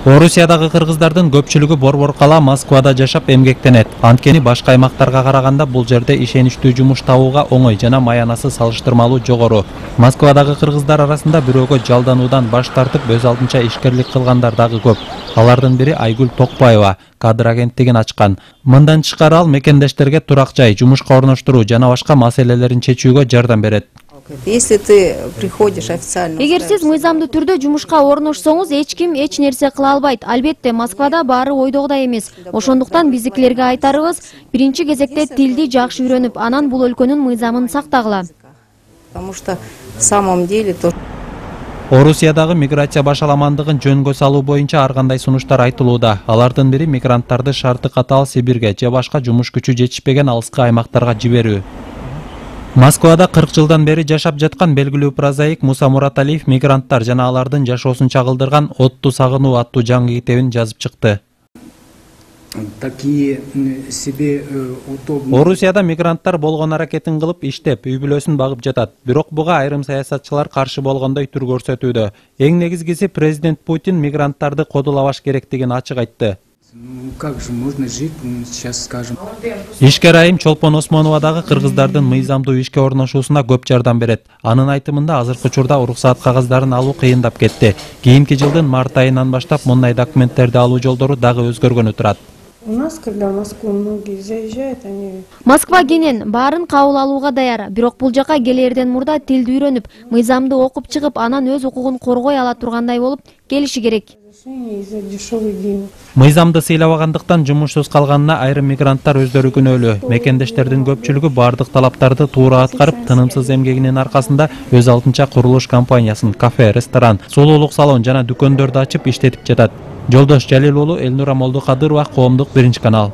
Орусиядагы кыргыздардын көпчүлүгү Борбор-кала Москвада жашап эмгектенет. Анткени башка аймактарга караганда бул жерде ишеничтүү жумуш табууга оңой жана маянасы салыштырмалуу жогору. Москвадагы кыргыздар арасында бирөөгө жалдануудан баш тартып өз алдынча ишкерлик кылгандар дагы көп. Алардын бири Айгүл Токпаева кадр агенттигин ачкан. Мындан тышкары ал мекендештерге турак жай, жумушка орноштуруу жана башка маселелерин чечүүгө жардам берет. Если ты приходишь официально... Эгер сиз мыйзамдуу түрдө жумушка орношсоңуз, эч ким эч нерсе кыла албайт. Албетте, Москвада баары ойдогудай эмес. Ошондуктан биздикилерге айтарыбыз, биринчи кезекте тилди жакшы үйрөнүп, анан бул өлкөнүн мыйзамын сактагыла. Потому что в самом деле то... Орусиядагы миграция башаламандыгын жөнгө салуу боюнча ар кандай сунуштар айтылууда. Алардын бири мигранттарды шарты катаал Сибирге же башка жумуш күчү жетишпеген алыскы аймактарга жиберүү. Москвада 40 жылдан бери жашап жаткан белгилүү прозаик Муса Мураталиев мигранттар жана алардын жашоосун чагылдырган «Отту сагынуу» аттуу жаңы китебин жазып чыкты. Орусияда мигранттар болгон аракетин кылып иштеп, үй бүлөсүн багып жатат. Бирок буга айрым саясатчылар каршы болгондой түр көрсөтүүдө. Эң негизгиси президент Путин мигранттарды кодулабаш керектигин ачык айтты. Как же можно жить, сейчас скажем. Ишкер айым Чолпон Осмоновадагы кыргыздардын мыйзамдуу ишке орношуусуна көп жардам берет. Анын айтымында азыркы учурда уруксаат кагаздарын алуу кыйындап кетти. Кийинки жылдын март айынан баштап мындай документтерди алуу жолдору дагы өзгөргөнү турат. У нас, когда в Москву многие заезжают, они... Москва кенен баарын кабыл алууга даяр. Бирок бул жака келерден мурда тилди үйрөнүп, мыйзамды окуп чыгып, анан өз укугун коргой ала тургандай болуп келиши керек. Мыйзамды сыйлабагандыктан жумушсуз калганына айрым мигранттар өздөрү күнөөлүү. Мекендештердин көпчүлүгү бардык талаптарды туура аткарып, тынымсыз эмгегинин аркасында өз алдынча курулуш компаниясын, кафе, ресторан, сулуулук салон жана дүкөндөрдү ачып иштетип жатат. Жолдош Жалил уулу, Элнура Молдокадырова, Коомдук, 1 канал.